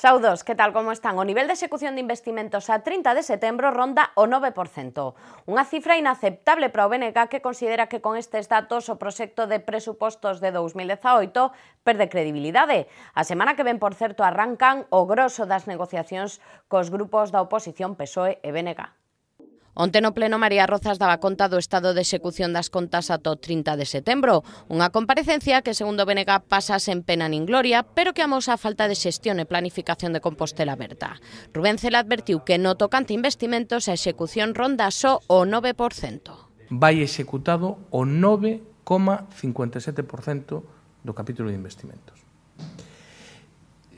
Saudos, que tal, como están? O nivel de execución de investimentos a 30 de setembro ronda o 9%. Unha cifra inaceptable para o BNG, que considera que con estes datos o proxecto de presupostos de 2018 perde credibilidade. A semana que ven, por certo, arrancan o groso das negociacións cos grupos da oposición PSOE e BNG. Onte no pleno, María Rozas daba conta do estado de execución das contas ata o 30 de setembro, unha comparecencia que, segundo BNG, pasa sen pena nin gloria, pero que amosa a falta de xestión e planificación de Compostela Aberta. Rubén Cela advertiu que no tocante investimentos a execución ronda só o 9%. Vai executado o 9,57% do capítulo de investimentos.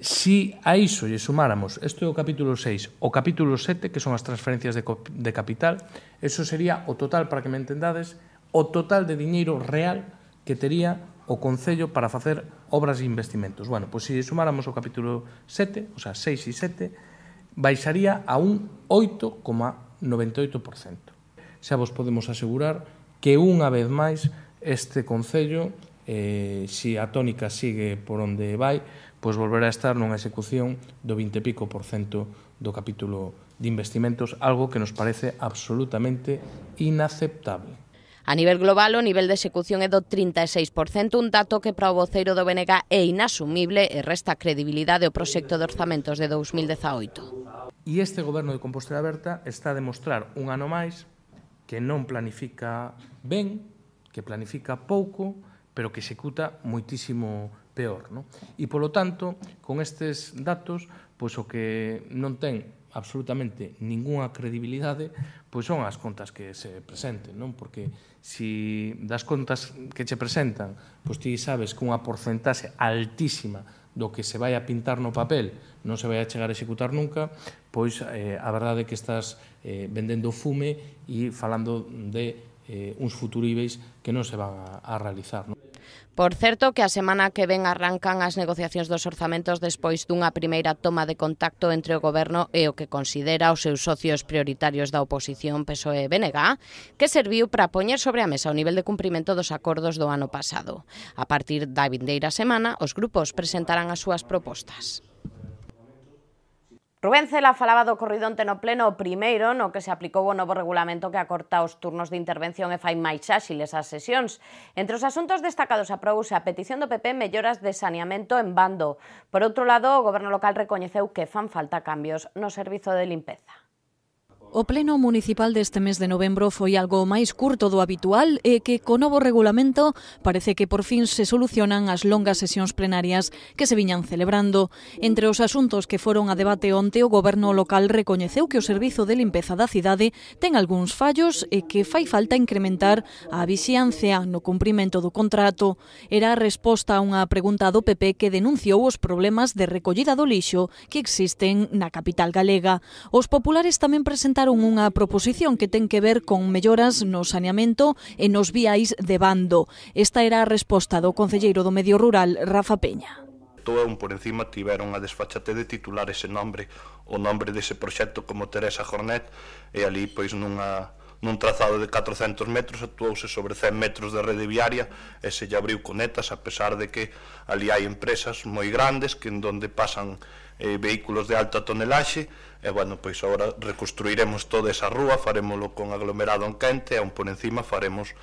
Si a iso lle sumáramos, isto é o capítulo 6, o capítulo 7, que son as transferencias de capital, eso sería o total, para que me entendades, o total de diñeiro real que tería o Concello para facer obras e investimentos. Bueno, pois se lle sumáramos o capítulo 7, o sea, 6 e 7, baixaría a un 8,98%. Xa vos podemos asegurar que unha vez máis este Concello, se a tónica sigue por onde vai, pois volverá a estar nunha execución do 20 e pico % do capítulo de investimentos, algo que nos parece absolutamente inaceptable. A nivel global, o nivel de execución é do 36%, un dato que para o voceiro do BNG é inasumible e resta credibilidade ao proxecto de orzamentos de 2018. E este goberno de Compostela Aberta está a demostrar un ano máis que non planifica ben, que planifica pouco, pero que executa moitísimo peor, non? E, polo tanto, con estes datos, pois o que non ten absolutamente ningunha credibilidade, pois son as contas que se presenten, non? Porque se das contas que che presentan, pois ti sabes que unha porcentaxe altísima do que se vai a pintar no papel non se vai a chegar a executar nunca, pois a verdade é que estás vendendo fume e falando de uns futuríveis que non se van a realizar, non? Por certo, que a semana que ven arrancan as negociacións dos orzamentos despois dunha primeira toma de contacto entre o Goberno e o que considera os seus socios prioritarios da oposición PSOE e BNG, que serviu para poñer sobre a mesa o nivel de cumprimento dos acordos do ano pasado. A partir da vindeira semana, os grupos presentarán as súas propostas. Rubén Cela falaba do ocorrido onte no pleno, o primeiro no que se aplicou o novo regulamento que acorta os turnos de intervención e fai máis áxiles as sesións. Entre os asuntos destacados aprobouse a petición do PP melloras de saneamento en Bando. Por outro lado, o Goberno local recoñeceu que fan falta cambios no servizo de limpeza. O pleno municipal deste mes de novembro foi algo máis curto do habitual e que, co novo regulamento, parece que por fin se solucionan as longas sesións plenarias que se viñan celebrando. Entre os asuntos que foron a debate onte, o Goberno local recoñeceu que o servizo de limpeza da cidade ten algúns fallos e que fai falta incrementar a vixiancia no cumprimento do contrato. Era a resposta a unha pregunta do PP que denunciou os problemas de recollida do lixo que existen na capital galega. Os populares tamén presentaron unha proposición que ten que ver con melloras no saneamento e nos viais de Bando. Esta era a resposta do concelleiro do Medio Rural, Rafa Peña. Un por encima tiveron a desfachate de titular ese nombre, o nombre dese proxecto como Teresa Jornet, e ali, pois, nun trazado de 400 metros actuouse sobre 100 metros de rede viaria e se lle abriu conetas, a pesar de que ali hai empresas moi grandes que en donde pasan vehículos de alta tonelaxe e, bueno, pois agora reconstruiremos toda esa rúa, farémolo con aglomerado en quente e por encima faremos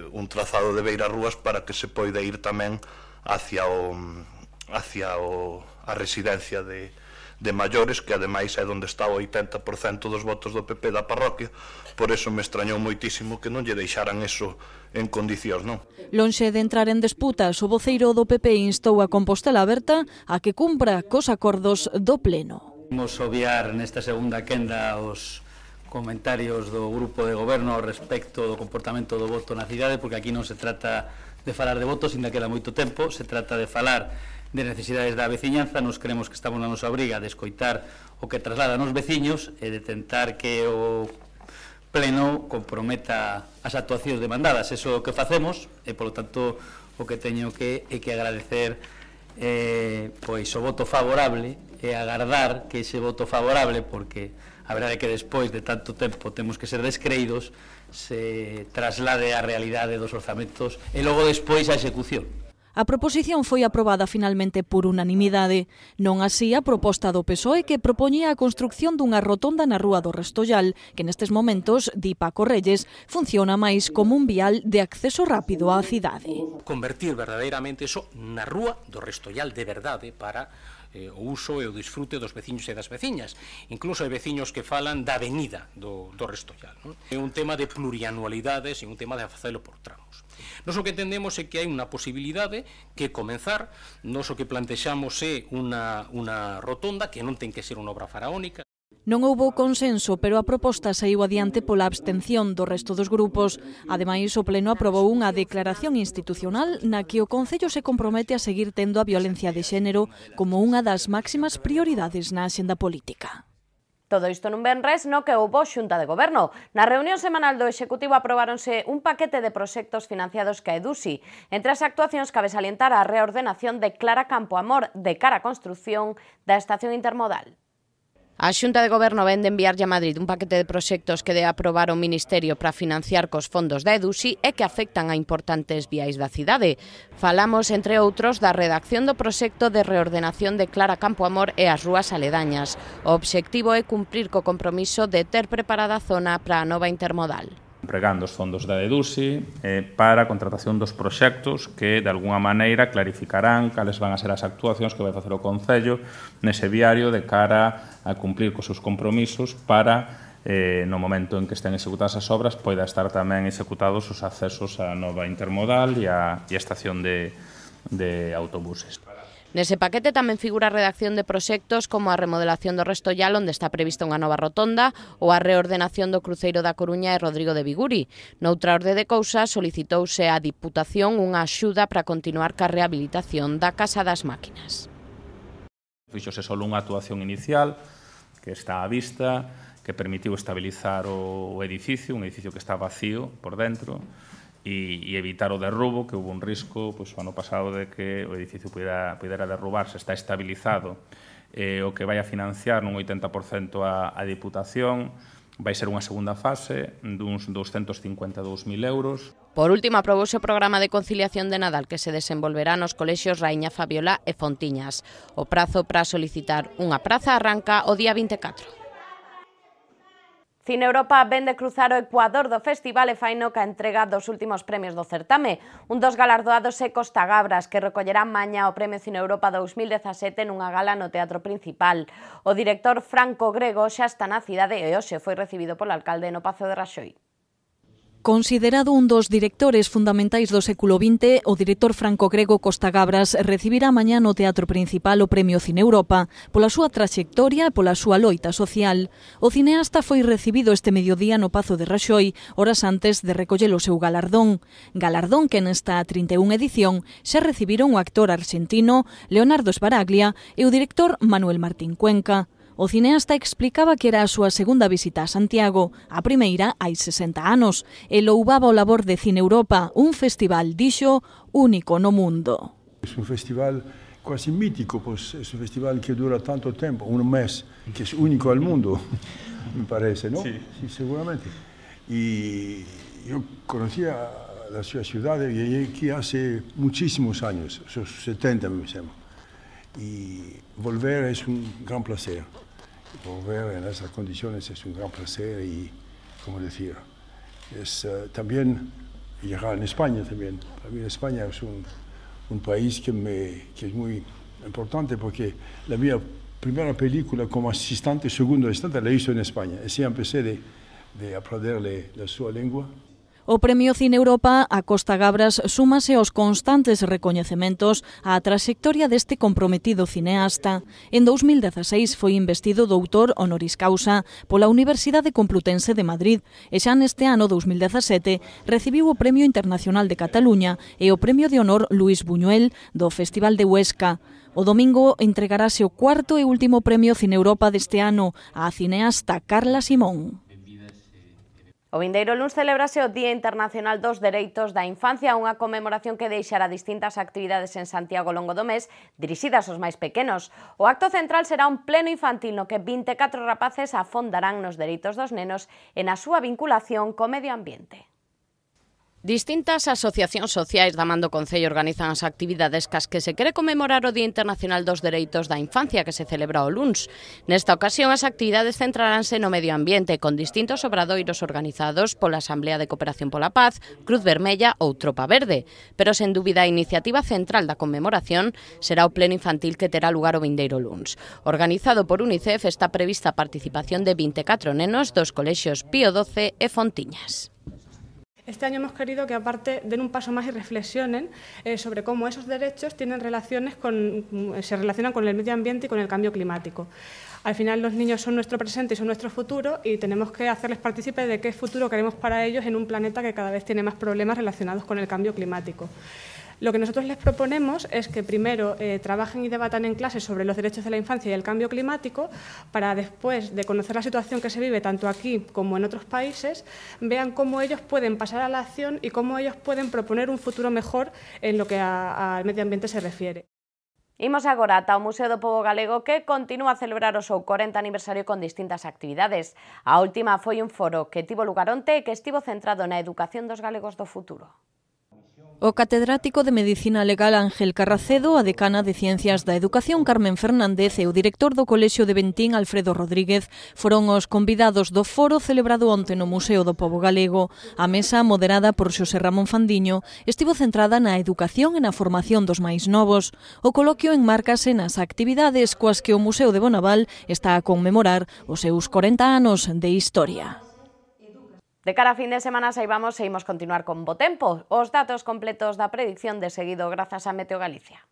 un trazado de beirarrúas para que se poida ir tamén hacia a residencia de maiores, que ademais é onde está o 80% dos votos do PP da parroquia. Por eso me extrañou moitísimo que non lle deixaran eso en condicións, non? Lonxe de entrar en disputas, o voceiro do PP instou a Compostela Aberta a que cumpra cos acordos do pleno. Vamos obviar nesta segunda quenda os comentarios do grupo de goberno respecto do comportamento do voto na cidade, porque aquí non se trata de falar de votos, ainda queda moito tempo, se trata de falar de necesidades da veciñanza. Nos creemos que estamos na nosa obriga de escoitar o que trasladan os veciños e de tentar que o pleno comprometa as actuacións demandadas. Eso é o que facemos e, polo tanto, o que teño que é que agradecer pois o voto favorable e agardar que ese voto favorable, porque a verdade é que despois de tanto tempo temos que ser descreídos, se traslade á realidade dos orzamentos e logo despois a execución. A proposición foi aprobada finalmente por unanimidade, non así a proposta do PSOE que propoñía a construcción dunha rotonda na Rúa do Restollal, que nestes momentos, di Paco Reyes, funciona máis como un vial de acceso rápido á cidade. Convertir verdadeiramente eso na Rúa do Restollal de verdade para o uso e o disfrute dos veciños e das veciñas. Incluso hai veciños que falan da avenida do Restollal. Non? É un tema de plurianualidades e un tema de facelo por tramos. Nos o que entendemos é que hai unha posibilidade que comenzar, nos o que plantexamos é unha rotonda que non ten que ser unha obra faraónica. Non houbo consenso, pero a proposta saíu adiante pola abstención do resto dos grupos. Ademais, o Pleno aprobou unha declaración institucional na que o Concello se compromete a seguir tendo a violencia de xénero como unha das máximas prioridades na axenda política. Todo isto nun venres no que houbo xunta de goberno. Na reunión semanal do Executivo aprobáronse un paquete de proxectos financiados ca EDUSI. Entre as actuacións cabe salientar a reordenación de Clara Campoamor de cara á construción da estación intermodal. A Xunta de Goberno vén de enviarlle a Madrid un paquete de proxectos que de aprobar o Ministerio para financiar cos fondos da EDUSI e que afectan a importantes viais da cidade. Falamos, entre outros, da redacción do proxecto de reordenación de Clara Campoamor e as rúas aledañas. O obxectivo é cumprir co compromiso de ter preparada a zona para a nova intermodal. Empregando os fondos da EDUSI para a contratación dos proxectos que, de alguna maneira, clarificarán cales van a ser as actuacións que vai facer o Concello nese viario de cara a cumplir cos seus compromisos para, no momento en que estén executadas as obras, poida estar tamén executados os accesos á nova intermodal e a estación de autobuses. Nese paquete tamén figura a redacción de proxectos como a remodelación do Restollal, onde está prevista unha nova rotonda, ou a reordenación do cruceiro da Coruña e Rodrigo de Viguri. Noutra orde de cousas, solicitouse á Diputación unha axuda para continuar ca rehabilitación da Casa das Máquinas. Fíxose só unha actuación inicial, que está á vista, que permitiu estabilizar o edificio, un edificio que está vacío por dentro, e evitar o derrubo, que houve un risco o ano pasado de que o edificio pudera derrubarse. Está estabilizado o que vai a financiar nun 80% a Diputación. Vai ser unha segunda fase duns 252.000 euros. Por último, aprobouse o programa de conciliación de Nadal que se desenvolverá nos colexios Raíña Fabiola e Fontiñas. O prazo para solicitar unha praza arranca o día 24. Cine Europa ven de cruzar o Ecuador do festival e faino ca entrega dos últimos premios do certame. Un dos galardoados é Costa Gabras, que recollerá mañá o Premio Cine Europa 2017 nunha gala no Teatro Principal. O director Franco Grego xa está na cidade e hoxe foi recibido polo alcalde no Pazo de Raxoi. Considerado un dos directores fundamentais do século XX, o director Franco Grego Costa Gabras recibirá mañá no Teatro Principal o Premio Cine Europa pola súa traxectoria e pola súa loita social. O cineasta foi recibido este mediodía no Pazo de Raxoi, horas antes de recoller o seu galardón. Galardón que nesta 31 edición xa recibiron o actor argentino Leonardo Sbaraglia e o director Manuel Martín Cuenca. O cineasta explicaba que era a súa segunda visita a Santiago, a primeira hai 60 anos, e louvaba o labor de Cine Europa, un festival, dixo, único no mundo. Es un festival quasi mítico, pues es un festival que dura tanto tiempo, un mes, que es único al mundo, me parece, ¿no? Sí, seguramente. Y yo conocía la ciudad y llegué aquí hace muchísimos años, 70 me sembra. Y volver es un gran placer. Volver en esas condiciones es un gran placer y, como decir, es también llegar en España también. Para mí España es un país que es muy importante porque la mi primera película como asistente, segundo asistente, la hizo en España. Así empecé de aprenderle la su lengua. O Premio Cine Europa a Costa Gabras súmase aos constantes recoñecementos á traxectoria deste comprometido cineasta. En 2016 foi investido doutor honoris causa pola Universidade Complutense de Madrid e xa neste ano 2017 recibiu o Premio Internacional de Cataluña e o Premio de Honor Luis Buñuel do Festival de Huesca. O domingo entregarase o cuarto e último Premio Cine Europa deste ano á cineasta Carla Simón. O vindeiro luns celebrase o Día Internacional dos Dereitos da Infancia, unha conmemoración que deixará distintas actividades en Santiago ao longo do mes, dirixidas aos máis pequenos. O acto central será un pleno infantil no que 24 rapaces afondarán nos dereitos dos nenos e na súa vinculación co medio ambiente. Distintas asociacións sociais da man do Concello organizan as actividades cas que se quere conmemorar o Día Internacional dos Dereitos da Infancia que se celebra o luns. Nesta ocasión as actividades centraránse no medio ambiente con distintos obradoiros organizados pola Asamblea de Cooperación pola Paz, Cruz Vermella ou Tropa Verde. Pero sen dúbida a iniciativa central da conmemoración será o pleno infantil que terá lugar o vindeiro luns. Organizado por UNICEF está prevista a participación de 24 nenos dos colexios Pío XII e Fontiñas. Este año hemos querido que aparte den un paso más y reflexionen sobre cómo esos derechos se relacionan con el medio ambiente y con el cambio climático. Al final los niños son nuestro presente y son nuestro futuro y tenemos que hacerles partícipes de qué futuro queremos para ellos en un planeta que cada vez tiene más problemas relacionados con el cambio climático. Lo que nosotros les proponemos es que primero trabajen y debatan en clase sobre los derechos de la infancia y el cambio climático para después de conocer la situación que se vive tanto aquí como en otros países, vean cómo ellos pueden pasar a la acción y cómo ellos pueden proponer un futuro mejor en lo que al medio ambiente se refiere. Imos agora ata o Museo do Pobo Galego que continúa a celebrar o seu 40 aniversario con distintas actividades. A última foi un foro que tivo lugar onte e que estivo centrado na educación dos galegos do futuro. O catedrático de Medicina Legal Ángel Carracedo, a decana de Ciencias da Educación Carmen Fernández e o director do Colexio de Bentín Alfredo Rodríguez foron os convidados do foro celebrado onte no Museo do Pobo Galego. A mesa, moderada por Xosé Ramón Fandiño, estivo centrada na educación e na formación dos máis novos. O coloquio enmárcase nas actividades coas que o Museo de Bonaval está a conmemorar os seus 40 anos de historia. De cara a fin de semana saibamos e imos continuar con bo tempo. Os datos completos da predicción de seguido grazas a Meteo Galicia.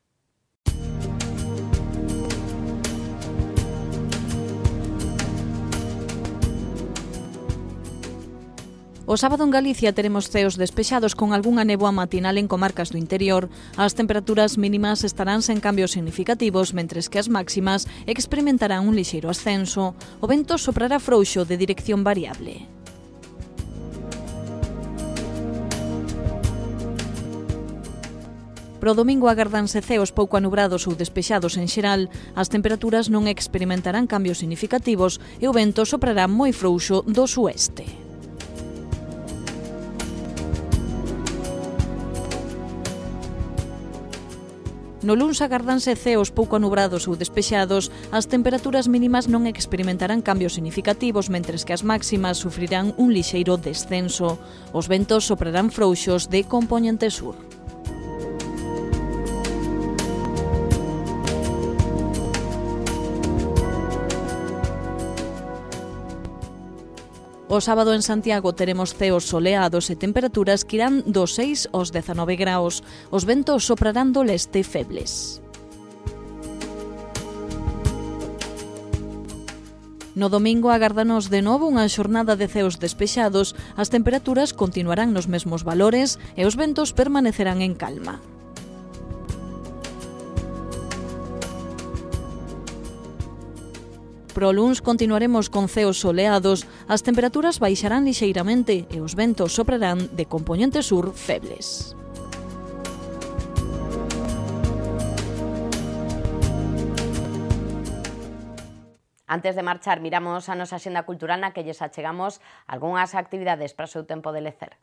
O sábado en Galicia teremos ceos despexados con algunha néboa matinal en comarcas do interior. As temperaturas mínimas estarán sen cambios significativos, mentres que as máximas experimentarán un lixeiro ascenso. O vento soprará frouxo de dirección variable. Pro domingo agardanse ceos pouco anubrados ou despexados en xeral, as temperaturas non experimentarán cambios significativos e o vento soprará moi frouxo do sueste. No luns agardanse ceos pouco anubrados ou despexados, as temperaturas mínimas non experimentarán cambios significativos, mentres que as máximas sufrirán un lixeiro descenso. Os ventos soprarán frouxos de compoñente sur. O sábado en Santiago teremos ceos soleados e temperaturas que irán dos 6 aos 19 graus. Os ventos soprarán do leste febles. No domingo agárdanos de novo unha xornada de ceos despexados, as temperaturas continuarán nos mesmos valores e os ventos permanecerán en calma. Pro luns continuaremos con ceos soleados, as temperaturas baixarán lixeiramente e os ventos soprarán de compoñente sur febles. Antes de marchar, miramos a nosa axenda cultural na que lles achegamos algunhas actividades para o seu tempo de lecer.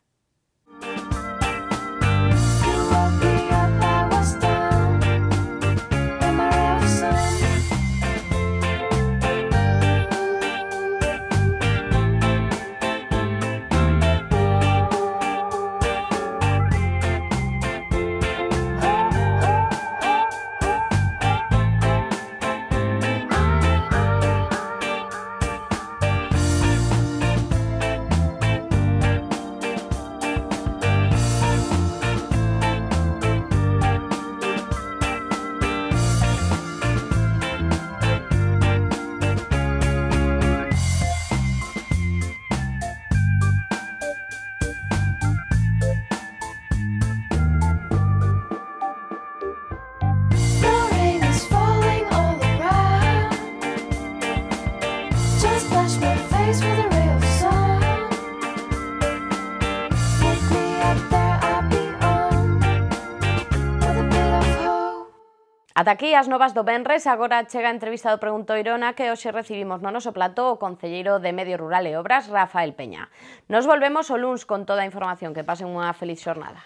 Ata aquí as novas do venres, agora chega a entrevista do Preguntoirona que hoxe recibimos no noso plató o concelleiro de Medio Rural e Obras, Rafael Peña. Nos volvemos o luns con toda a información. Que pasen unha feliz xornada.